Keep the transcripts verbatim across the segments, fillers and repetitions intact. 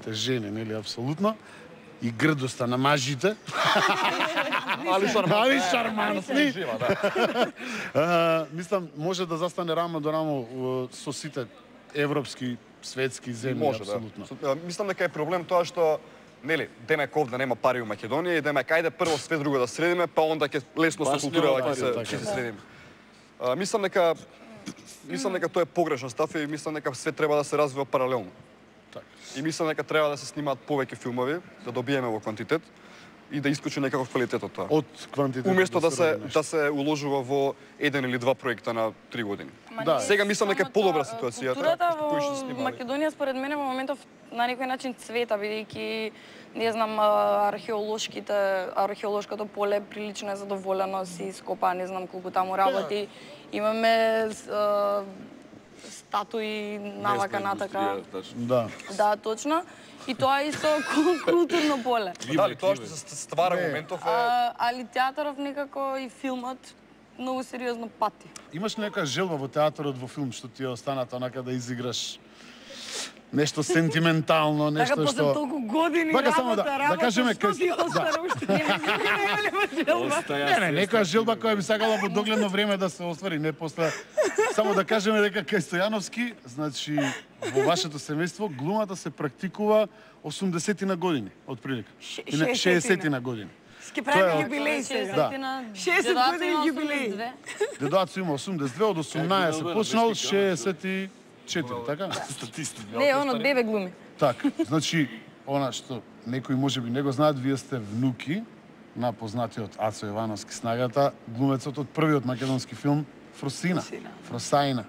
сите жени, нели, апсолутно. И грдоста на мажите. Али шармантни. Али шармантни. Мислам, може да застане рамо до рамо со сите европски, светски земји, Може, апсолутно. Да. Мислам дека е проблем тоа што нели, демек овде нема пари у Македонија и демек ајде прво све друго да средиме, па онда ќе лесно со култура ќе се ќе се средиме. А, мислам дека мислам дека тоа е погрешен став и мислам дека све треба да се развива паралелно. Така. И мислам дека треба да се снимаат повеќе филмови, да добиеме во квантитет и да искочи некаков квалитет од тоа. Од квантитет. Уместо да се да се уложува во еден или два проекта на три години. Да. Сега мислам дека е подобра ситуацијата. Културата во Македонија според мене во моментов на некој начин цвета, бидејќи не знам, археолошките, археолошкото поле прилично е задоволено, си скопа, не знам колку таму работи. Имаме статуи навака натака. Да. Да, точно. И тоа е исто културно поле. Дали тоа што се ствара моментов е... Али театаров некако и филмот многу сериозно пати. Имаш нека желба во театарот, во филм, што ти е останата онака да изиграш нешто сентиментално, нешто што... Така, после толку години Бака, работа, само да, работа, да кажеме, што ти остара уште? Не, не, некоја желба која би сакала во догледно време да се оствари, не после... Само да кажеме дека кај Стојановски, значи, во вашето семејство, глумата се практикува осумдесети на години, отприлика. Или шеесети на години. Ски правиме јубилеј сега. шеесет години јубилеј. Дедоацо има осумдесет и две, од осумнаесет почнал, шеесет и четири, така? Не, он од бебе глуми. Така, значи, она што некои можеби не го знаат, вие сте внуки на познатиот Ацо Јовановски Снагата, глумецот од првиот македонски филм Фросина. Фросајна.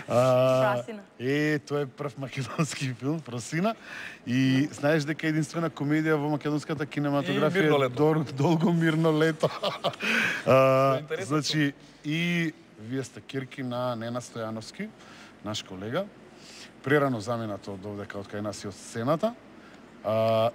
Фросина. Е, тоа е прв македонски филм, Фросина. И знаеш дека единствена комедија во македонската кинематографија е Долго мирно лето. Значи, и вие сте кирки на Нена Стојановски, наш колега, прерано заминато од овдека од кај нас и од сцената. А,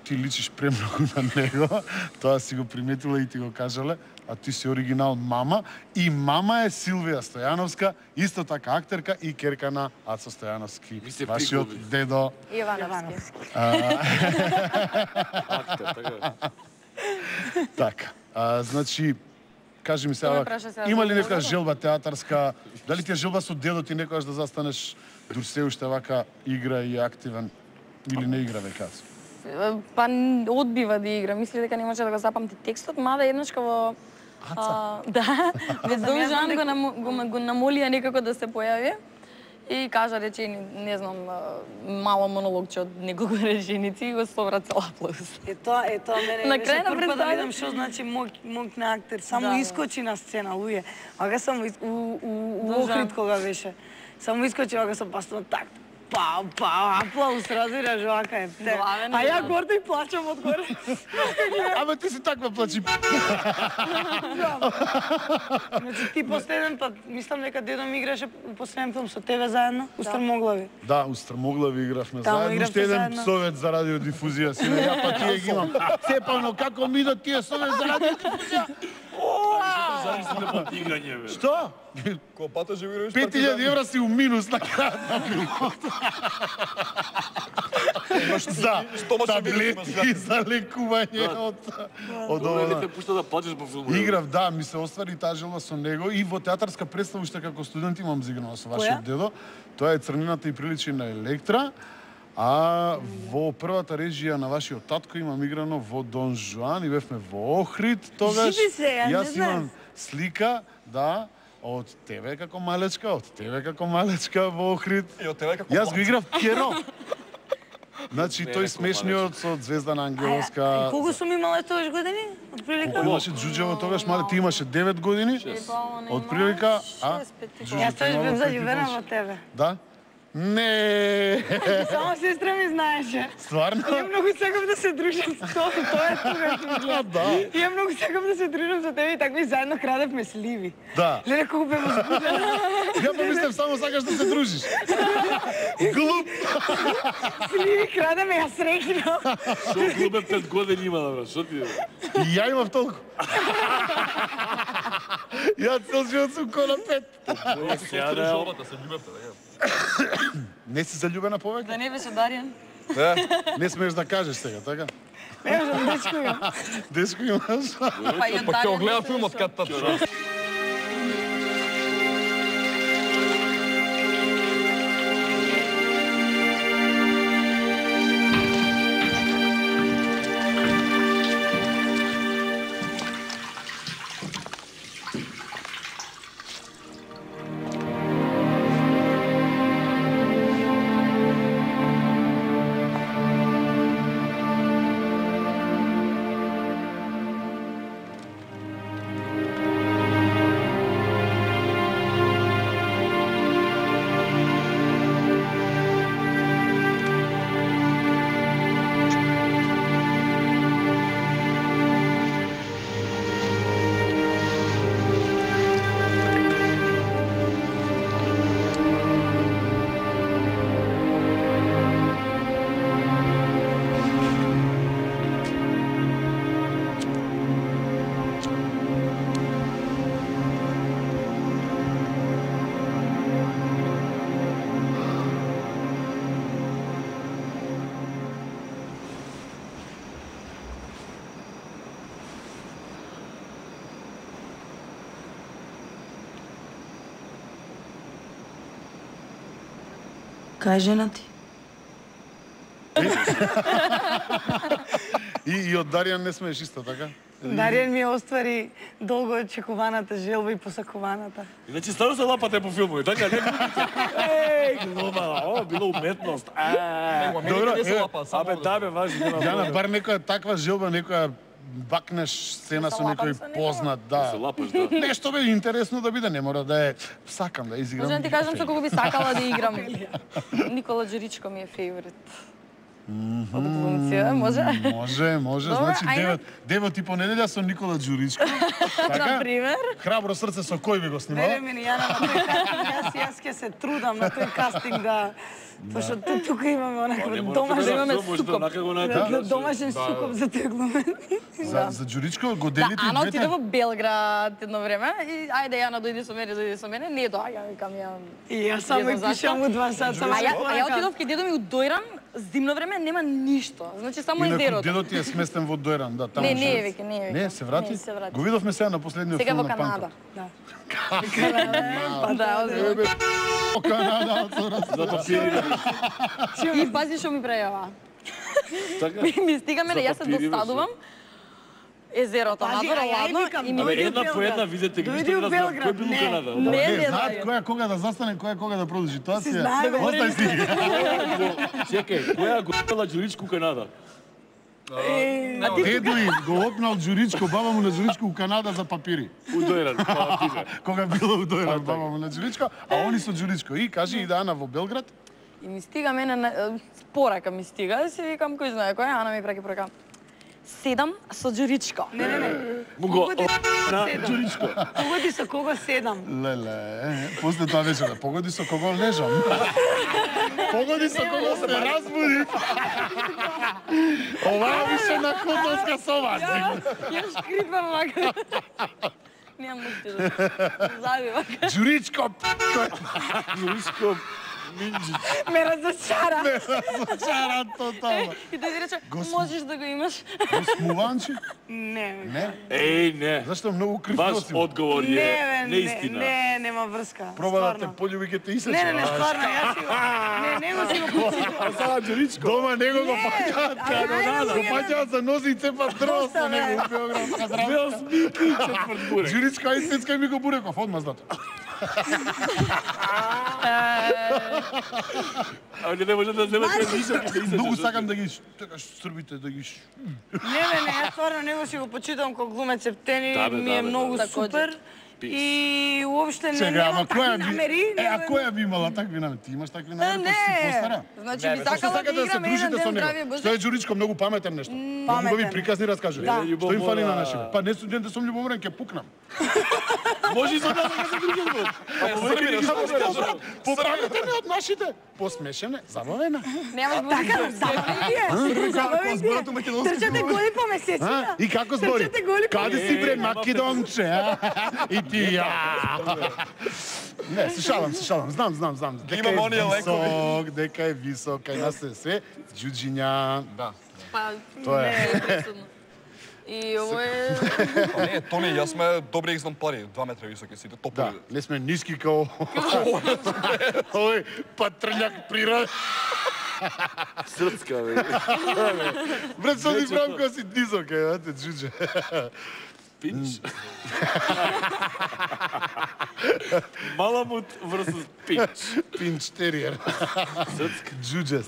ти личиш премногу на него, тоа си го приметила и ти го кажале, а ти си оригинал мама, и мама е Силвија Стојановска, исто така актерка и керка на Ацо Стојановски, вашиот дедо. Јовановски. Актер, така. Така, а, значи, кажи ми сега, има ли нека желба театарска, дали ти е желба со дедо ти некојаш да застанеш дур се уште вака игра и активен, или не игра векац? Па одбива да игра, мисли дека не може да го запамти текстот, мада еднаш во а, да, Дон Жан го, намо, го, го намолија некако да се појави и кажа речени, не знам, мало монологче од неколку реченици и го собра цел аплауз. Е тоа, е тоа мене на беше крај на прв пат да представа... видам што значи мок, мок на актер, само да, искочи на сцена, луѓе. Ага само у, у, у Охрид кога беше. Само искочи ага со пастон так. Па, па, аплауз, разбираш, вака е. А ја гордо и плачам од горе. Абе, ти си таква плачи. Значи, ти последен пат, мислам дека дедо ми играше у последен филм со тебе заедно, у Стрмоглави. Да, у Стрмоглави игравме заедно. Уште еден совет за радиодифузија. Сине, ја па тие ги имам. Цепано, како ми до тие совет за радиодифузија? Што? Копата же играш пет илјади евра си у минус на крајот на филмот. За таблетки, за лекување од од ова. Не те пушта да плачеш по филмот. Играв, да, ми се оствари таа желба со него и во театарска представа уште како студент имам зиграно со вашиот дедо. Тоа е Црнината и приличи на Електра. А во првата режија на вашиот татко имам играно во Дон Жуан и бевме во Охрид тогаш. Јас имам слика, да, од тебе како малечка, од тебе како малечка во Охрид. И од тебе како Јас го играв Керо. Значи, тој смешниот со Звезда на Ангеловска. Колку сум имала тогаш години? Од прилика? Колку имаше Џуџево тогаш, мале, ти имаше девет години. Од прилика, а? Јас тогаш бев заљубена во тебе. Да? Не. Само сестра ми знаеше. Стварно? Ја многу сакам да се дружам со тоа, тоа е тогаш. Да. Ја многу сакам да се дружам со тебе и така ми заедно крадевме сливи. Да. Леле колку бев возбудена. Ја помислев само сакаш да се дружиш. Глуп. Сливи крадеме, ја среќнав. Што глубе пет години има, да, брат, што ти е? И ја имав толку. Ја цел живот сум кола пет. Сега да Не си заљубена повеќе? Да не беше Даријан. Не смееш да кажеш сега, така? Не можам, дечко имам. Дечко имаш? Па и од Па ќе Даријан. гледа не филмот се кад тачно. Кај жена ти? И, и од Даријан не смееш исто, така? Даријан ми оствари долго очекуваната желба и посакуваната. Иначе ставно се лапате по филмови, така не глумите. Еј, глума, о, било уметност. А, Добро, Не се е, лапа, само абе, да. да бе, важи, нема Јана, проблем. бар некоја таква желба, некоја бакнеш сцена Да со се некој лапам со некој. познат, Се да. лапаш, да. Нешто бе интересно да биде, не мора да е сакам да изиграм. Може да ти кажам со кого би сакала да играм. Никола Џуричко ми е фейворит. Од глумци, може? Може, може. Добро, Значи а девет, девет и понеделја со Никола Џуричко. Така? Например. Храбро срце со кој би го Вере снимала? ми, Јана, на тој кастинг, јас, јас ќе се трудам на тој кастинг да... Пошто ту- тука имаме онаква Не мора домашен, да имаме може да сукоп. онака го да, најде. домашен сукоп за тој глумен. За, за Џуричко го Да, делите Ана и отиде двете? во Белград едно време и ајде Јана дојди со мене, дојди со мене, не доаѓа, викам ја. И јас само Едно и зашто? пишам у два сата. А ја, а ја отидов кај дедо ми у Дојран, зимно време нема ништо. Значи само Инаку езерото. дедот ти е сместен во Дојран, да, таму. Не, не е живее. веќе, не е веќе. Не, се врати? Не, се врати. Го видовме сега на последниот Сега филм во на Канада. Панкот. Да. Да, озbiljno. Ебе, о, Канада, За папири да И пази што ми прејава. Така? Ми, ми стига мене, За јас се папири, достадувам. Езерото, Пази, надвор, а ја и ладно викам, и ми Абе, дојди у една по Белград. една видете ги, Дојди ништо у не разбрав. Белград. Кој бил у Не. Канада? Не, Не, не знаат знајам. која кога да застане, која кога да продолжи. Тоа си. знаеме, Остај си. Чекај, која го пела Џуричко у Канада? Едуин го опнал Џуричко, баба му на Џуричко у Канада за папири. У Дојран, па пише. Кога било у Дојран баба му на Џуричко, а они со Џуричко. И кажи и да Ана во Белград. И ми стига мене, на- порака ми стига, и си викам кој знае кој, Ана ми праќа порака. Седам со Џуричко. Не, не, не. Му го Погоди на седам. Џуричко. Погоди со кого седам. Леле, после тоа беше да погоди со кого лежам. Погоди со кого се разбуди. Ова више на хотелска соба. Ја шкрипам вака. Немам ништо да зави вака. Џуричко, Џуричко Минџич. Ме разочара. чара тотално. И тој ти рече, Госп- можеш да го имаш. Смуванчи? Не, Не. Еј, не. Зашто многу крив Ваш носим? одговор не, е бе, не, неистина. не, нема врска. Проба да те стварно. полюби ке те исече. Не, не, не, стварно, јас си го... Не, не го си го почитам. А сега Џуричко. Дома него го Не, паќаат а најдобро Го е- паќаат за нози и цепат дрво со Доста, бе. него у Белградска Две здравка. осминки и четврт бурек. Џуричко, ај сецкај ми го буреков, одма знато. А не може да земете ништо ќе се исече. Многу сакам да ги така србите да ги ш- Не, не, не, јас стварно него си го почитам како глумец Септени, Да, бе, ми да, е бе, многу да. супер. Пис. И уопште не Чека, ама немам која такви би... намери. Е, а не- која би имала такви намери? Ти имаш такви Е, намери, па си не. постара. Значи Не, би бе, Зашто сакала да сакате да се играм еден дружите со ден него? здравје Што Боже. е Џуричко многу паметен нешто? Многу Паметен. ви приказни разкажува. Да. Што им фали на Љубомора. нашите? Па не студент сум љубоморен, ќе пукнам. Може и со нас да се дружат. А повеќе ги Попаметен од нашите. Посмешене, забавена. Немаш Така, Боже. забавен ти е. Забавен ти е. Трчате голи по месецина. А? И како збори? Трчате голи по Каде си бре Македонче? а? И ти ја. Не, се шалам, се шалам. Знам, знам, знам. Дека Имам оние е лекови. висок, дека е висок, кај нас е све џуџиња. Да. Па, Тоа е. не е пресудно. И ово е... Па не, Тони, јас сме добри екземпари, два метра високи сите, Да, топови. не сме ниски као... Овој патрљак природа. Срцка, бе. Брат, со ни правам кога си низок, е, ете, џуџе. Пинч. Маламут versus пинч. Пинч териер. Срцка. Џуџе.